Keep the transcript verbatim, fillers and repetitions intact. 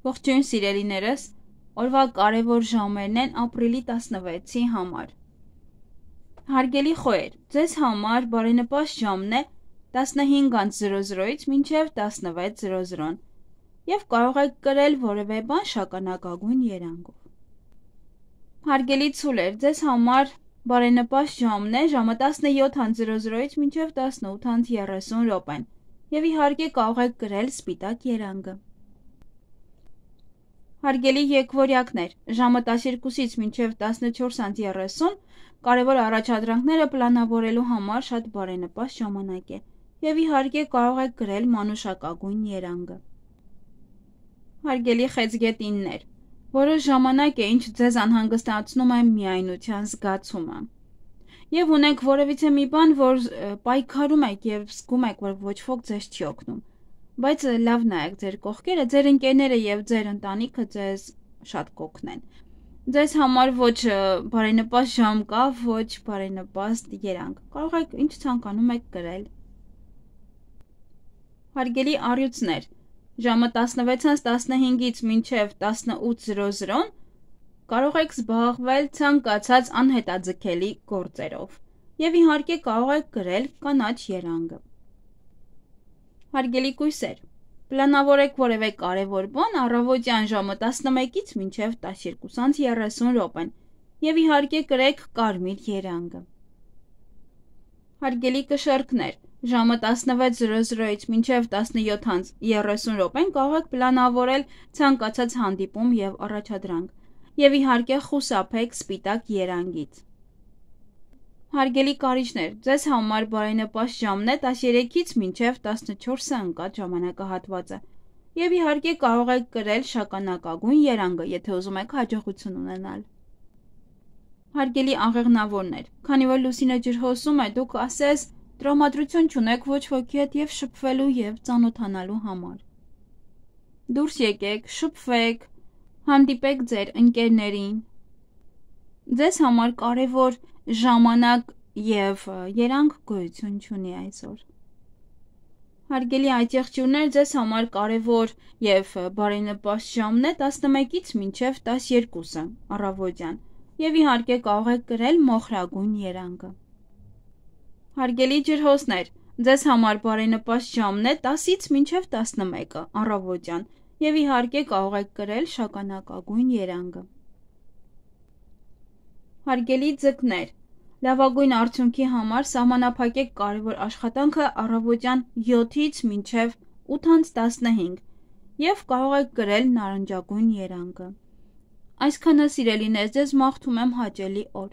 Ողջույն սիրելիներս, օրվա կարևոր ժամերն են ապրիլի տասնվեցի համար։ Հարգելի խոհեր, ձեզ համար բարենպաստ ժամն է տասնհինգ զրո զրոից մինչև տասնվեց զրո զրոն և կարող եք կրել որևէ բան շագանակագույն երանգով։ Հարգելի ցուլեր, ձեզ համար բարենպաստ ժամն է ժամը տասնյոթ զրո զրոից մինչև տասնութ երեսուն րոպեն և իհարկե կարող եք կրել սպիտակ երանգը։ Հարգելի եկվորյակներ, ժամը տասնյոթից մինչև տասնչորս երեսուն կարևոր առաջադրանքները պլանավորելու համար շատ բարենպաստ ժամանակ է և իհարկե կարող եք կրել մանուշակագույն երանգը։ Հարգելի խեցգետիններ, որոշ ժամանակ է ինչ ձեզ անհանգստացնում է միայնության զգացումը և ունեք որևիցե մի բան, որ պայքարում եք և զգում եք, որ ոչ ոք ձեզ չի օգնում, բայց լավ նայեք ձեր կողքերը, ձեր ընկերները և ձեր ընտանիքը ձեզ շատ կօգնեն։ Ձեզ համար ոչ բարենպաստ ժամ կա, ոչ բարենպաստ երանգ, կարող եք ինչ ցանկանում եք կրել։ Հարգելի առյուծներ, ժամը տասնվեցից տասնհինգից մինչև տասնութ զրո զրոն կարող եք զբաղվել ցանկացած անհետաձգելի գործերով և իհարկե կարող եք կրել կանաչ երանգը։ Հարգելի կույսեր, պլանավորեք որևէ կարևոր բան առավոտյան ժամը տասնմեկից մինչև տասնյոթ երեսուն րոպեն և իհարկե կրեք կարմիր երանգը։ Հարգելի կշեռքներ, ժամը տասնվեց զրո զրոից մինչև տասնյոթ երեսուն րոպեն կարող եք պլանավորել ցանկացած հանդիպում և առաջադրանք և իհարկե խուսափեք սպիտակ երանգից։ Հարգելի կարիճներ, ձեզ համար բարենպաստ ժամն է տասնյոթից մինչև տասնչորսը ընկած ժամանակահատվածը և իհարկե կարող եք կրել շագանակագույն երանգը, եթե ուզում եք հաջողություն ունենալ։ Հարգելի աղեղնավորներ, քանի որ լուսինը ջրհոսում է, դուք ասես տրամադրություն չունեք ոչ ոքի հետ և շփվելու և ծանոթանալու համար։ Դուրս եկեք, շփվեք, հանդիպեք ձեր ընկերներին։ Ձեզ համար կարևոր ժամանակ և երանգ գոյություն չունի այսօր։ Հարգելի այծեղջյուրներ, ձեզ համար կարևոր և բարենպաստ ժամն է տասնմեկից մինչև տասնյոթը առավոտյան և իհարկե կարող եք կրել մոխրագույն երանգը։ Հարգելի ջրհոսներ, ձեզ համար բարենպաստ ժամն է տասից մինչև տասնմեկը առավոտյան և իհարկե կարող եք կրել շագանակագույն երանգը։ Հարգելի ձկներ, լավագույն արդյունքի համար սահմանափակեք կարևոր աշխատանքը առավոտյան յոթից մինչև ութ տասնհինգ և կարող եք կրել նարնջագույն երանգը։ Այսքանը սիրելիներ, ձեզ մաղթում եմ հաճելի օր։